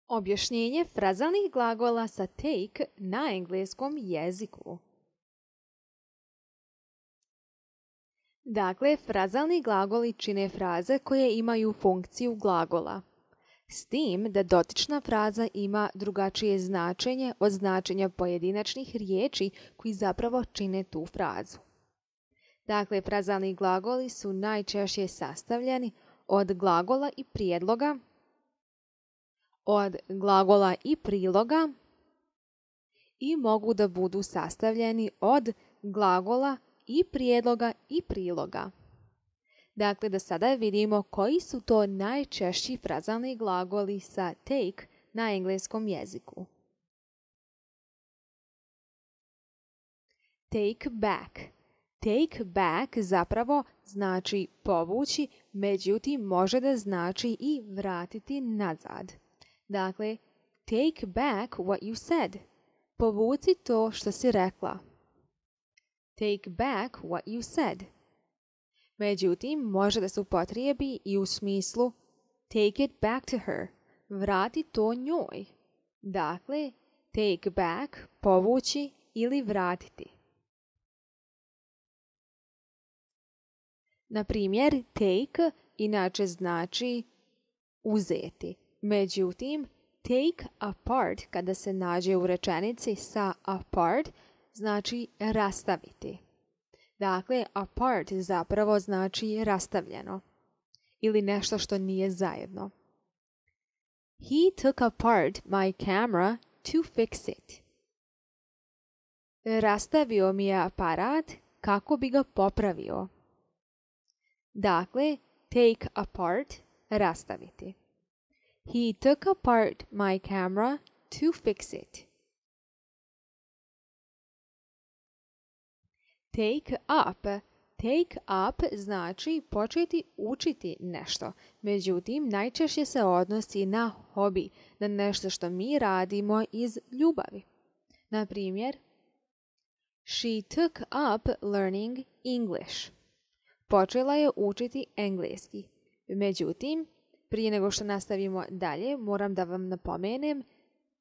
Objašnjenje frazalnih glagola sa take na engleskom jeziku. Dakle, frazalni glagoli čine fraze koje imaju funkciju glagola. S tim da dotična fraza ima drugačije značenje od značenja pojedinačnih riječi koji zapravo čine tu frazu. Dakle, frazalni glagoli su najčešće sastavljeni od glagola i prijedloga, od glagola i priloga i mogu da budu sastavljeni od glagola i prijedloga i priloga. Dakle, da sada vidimo koji su to najčešći frazalni glagoli sa take na engleskom jeziku. Take back. Take back zapravo znači povući, međutim može da znači i vratiti nazad. Dakle, take back what you said. Povuci to što si rekla. Take back what you said. Međutim, može da se upotrijebi i u smislu take it back to her. Vrati to njoj. Dakle, take back, povući ili vratiti. Na primjer, take inače znači uzeti. Međutim, take apart kada se nađe u rečenici sa apart znači rastaviti. Dakle, apart zapravo znači rastavljeno ili nešto što nije zajedno. He took apart my camera to fix it. Rastavio mi je aparat kako bi ga popravio. Dakle, take apart, rastaviti. He took apart my camera to fix it. Take up. Take up znači početi učiti nešto. Međutim, najčešće se odnosi na hobi, na nešto što mi radimo iz ljubavi. Na primjer, she took up learning English. Počela je učiti engleski. Međutim, prije nego što nastavimo dalje, moram da vam napomenem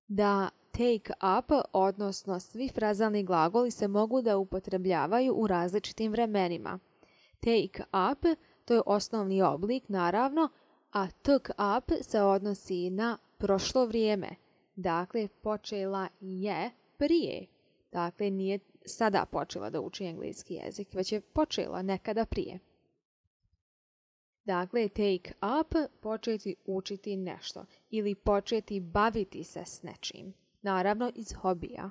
da take up, odnosno svi frazalni glagoli se mogu da upotrebljavaju u različitim vremenima. Take up, to je osnovni oblik, naravno, a took up se odnosi na prošlo vrijeme. Dakle, počela je prije. Dakle, nije sada počela da uči engleski jezik, već je počela nekada prije. Dakle, take up, početi učiti nešto ili početi baviti se s nečim. Naravno, iz hobija.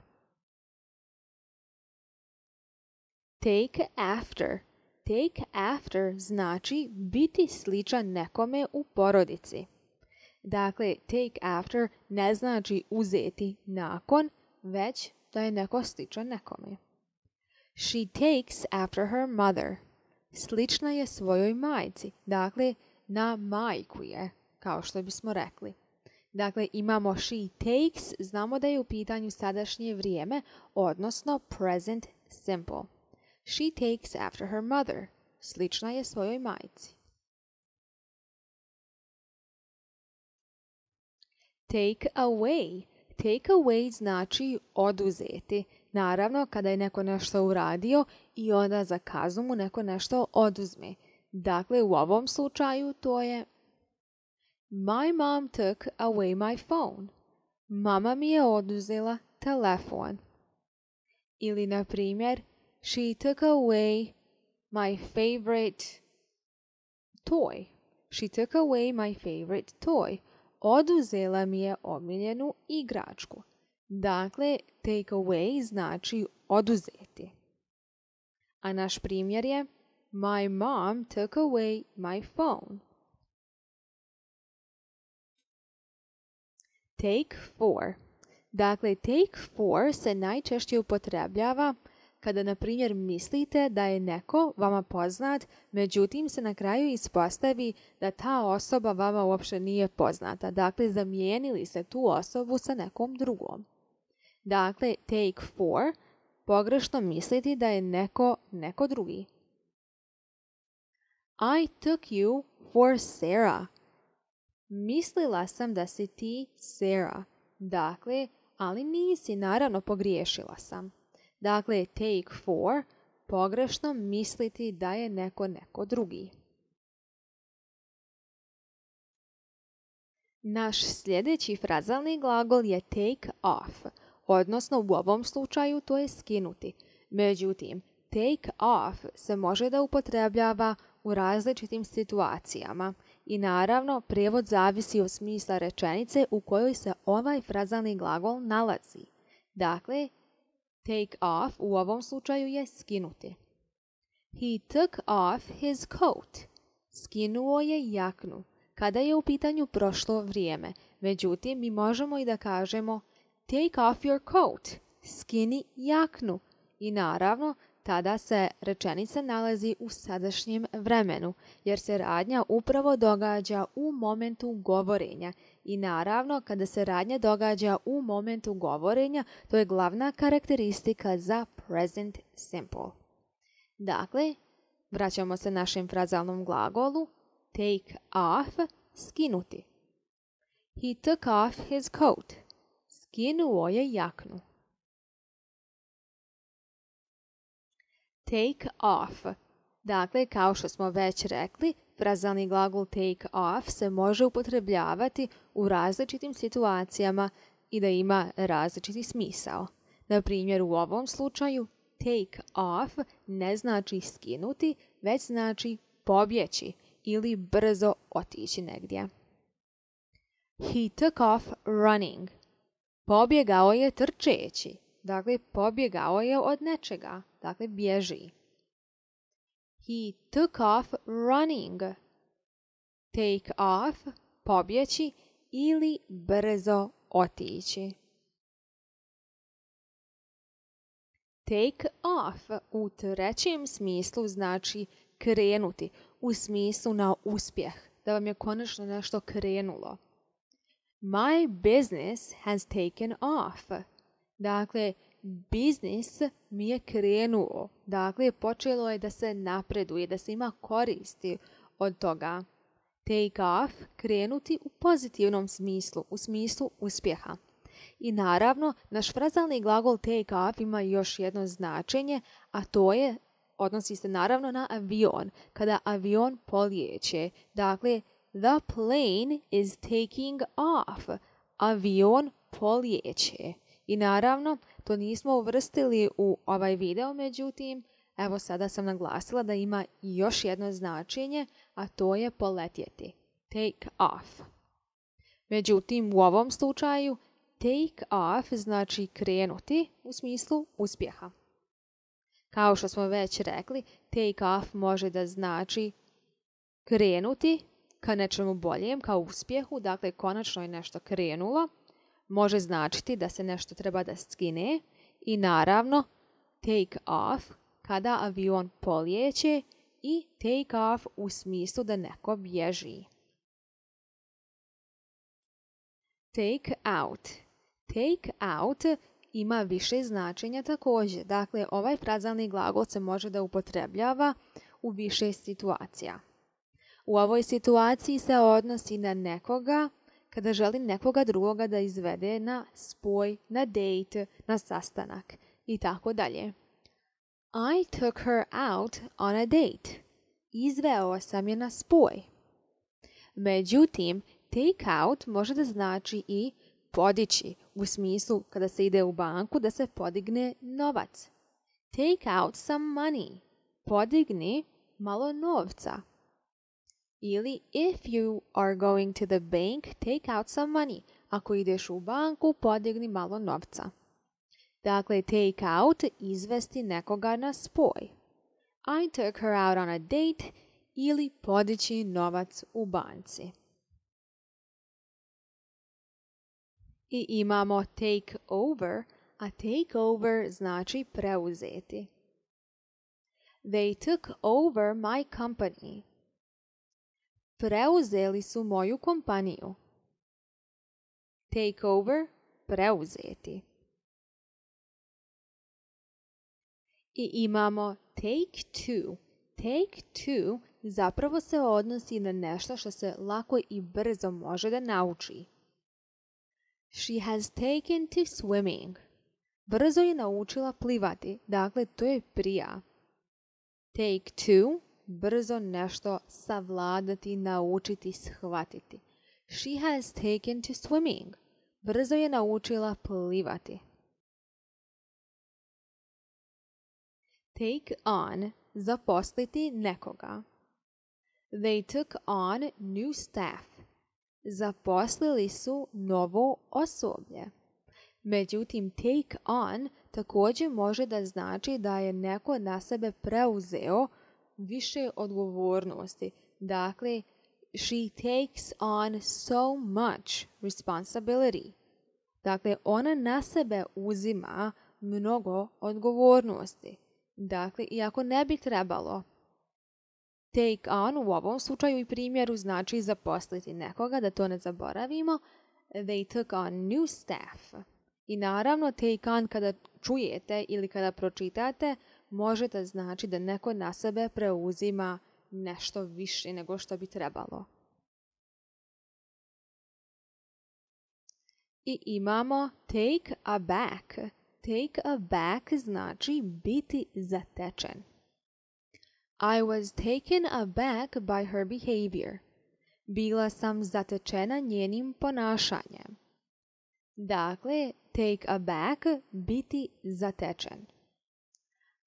Take after. Take after znači biti sličan nekome u porodici. Dakle, take after ne znači uzeti nakon, već da je neko sličan nekome. She takes after her mother. Slična je svojoj majci. Dakle, na majku je, kao što bismo rekli. Dakle, imamo she takes, znamo da je u pitanju sadašnje vrijeme, odnosno present simple. She takes after her mother. Slična je svojoj majci. Take away. Take away znači oduzeti. Naravno, kada je neko nešto uradio i onda za kaznu mu neko nešto oduzme. Dakle, u ovom slučaju to je My mom took away my phone. Mama mi je oduzela telefon. Ili, na primjer, She took away my favorite toy. She took away my favorite toy. Oduzela mi je omiljenu igračku. Dakle, take away znači oduzeti. A naš primjer je My mom took away my phone. Take for. Dakle, take for se najčešće upotrebljava kada, na primjer, mislite da je neko vama poznat, međutim se na kraju ispostavi da ta osoba vama uopće nije poznata. Dakle, zamijenili ste tu osobu sa nekom drugom. Dakle, take for, pogrešno misliti da je neko drugi. I took you for Sarah. mislila sam da si ti Sarah. Dakle, ali nisi, naravno pogriješila sam. Dakle, take for, pogrešno misliti da je neko drugi. Naš sljedeći frazalni glagol je take off, odnosno u ovom slučaju to je skinuti. Međutim, take off se može da upotrebljava u različitim situacijama i naravno prijevod zavisi od smisla rečenice u kojoj se ovaj frazalni glagol nalazi. Dakle, take off u ovom slučaju je skinuti. He took off his coat. Skinuo je jaknu. Kada je u pitanju prošlo vrijeme. Međutim, mi možemo i da kažemo take off your coat. Skini jaknu. I naravno, tada se rečenica nalazi u sadašnjem vremenu, jer se radnja upravo događa u momentu govorenja. I naravno, kada se radnja događa u momentu govorenja, to je glavna karakteristika za present simple. Dakle, vraćamo se našem frazalnom glagolu take off, skinuti. He took off his coat. Skinuo je jaknu. Take off. Dakle, kao što smo već rekli, frazalni glagol take off se može upotrebljavati u različitim situacijama i da ima različiti smisao. Na primjer, u ovom slučaju take off ne znači skinuti, već znači pobjeći ili brzo otići negdje. He took off running. Pobjegao je trčeći. Dakle, pobjegao je od nečega. Dakle, bježi. He took off running. Take off, pobjeći ili brzo otići. Take off u trećem smislu znači krenuti, u smislu na uspjeh, da vam je konačno nešto krenulo. My business has taken off. Dakle, biznis mi je krenuo. Dakle, počelo je da se napreduje, da se ima koristi od toga. Take off, krenuti u pozitivnom smislu, u smislu uspjeha. I naravno, naš frazalni glagol take off ima još jedno značenje, a to je, odnosi se naravno na avion, kada avion polijeće. Dakle, the plane is taking off. Avion polijeće. I naravno, to nismo uvrstili u ovaj video, međutim, evo sada sam naglasila da ima još jedno značenje, a to je poletjeti. Take off. Međutim, u ovom slučaju, take off znači krenuti u smislu uspjeha. Kao što smo već rekli, take off može da znači krenuti ka nečemu boljem, kao uspjehu, dakle konačno je nešto krenulo. Može značiti da se nešto treba da skine i naravno take off kada avion polijeće i take off u smislu da neko bježi. Take out. Take out ima više značenja također. Dakle, ovaj frazalni glagol se može da upotrebljava u više situacija. U ovoj situaciji se odnosi na nekoga kada želi nekoga drugoga da izvede na spoj, na date, na sastanak i tako dalje. I took her out on a date. Izveo sam je na spoj. Međutim, take out može da znači i podići, u smislu kada se ide u banku da se podigne novac. Take out some money. Podigni malo novca. Ili if you are going to the bank, take out some money. Ako ideš u banku, podigni malo novca. Dakle, take out, izvesti nekoga na spoj. I took her out on a date ili podići novac u banci. I imamo take over, a take over znači preuzeti. They took over my company. Preuzeli su moju kompaniju. Take over, preuzeti. I imamo take two. Take two zapravo se odnosi na nešto što se lako i brzo može da nauči. She has taken to swimming. Brzo je naučila plivati, dakle to je prija. Take to, brzo nešto savladati, naučiti, shvatiti. She has taken to swimming. Brzo je naučila plivati. Take on, zaposliti nekoga. They took on new staff. Zaposlili su novo osoblje. Međutim, take on također može da znači da je neko na sebe preuzeo više odgovornosti. Dakle, she takes on so much responsibility. Dakle, ona na sebe uzima mnogo odgovornosti. Dakle, iako ne bi trebalo. Take on u ovom slučaju i primjeru znači zaposliti nekoga, da to ne zaboravimo. They took on new staff. I naravno, take on kada čujete ili kada pročitate, može da znači da neko na sebe preuzima nešto više nego što bi trebalo. I imamo take aback. Take aback znači biti zatečen. I was taken aback by her behavior. Bila sam zatečena njenim ponašanjem. Dakle, take aback, biti zatečen.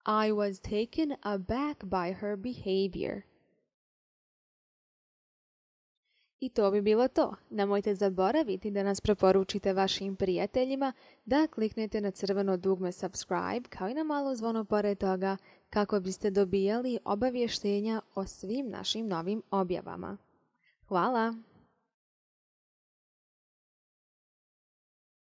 I was taken aback by her behavior. I to bi bilo to. Nemojte zaboraviti da nas preporučite vašim prijateljima, da kliknete na crveno dugme subscribe kao i na malo zvono pored toga kako biste dobijali obavještenja o svim našim novim objavama. Hvala!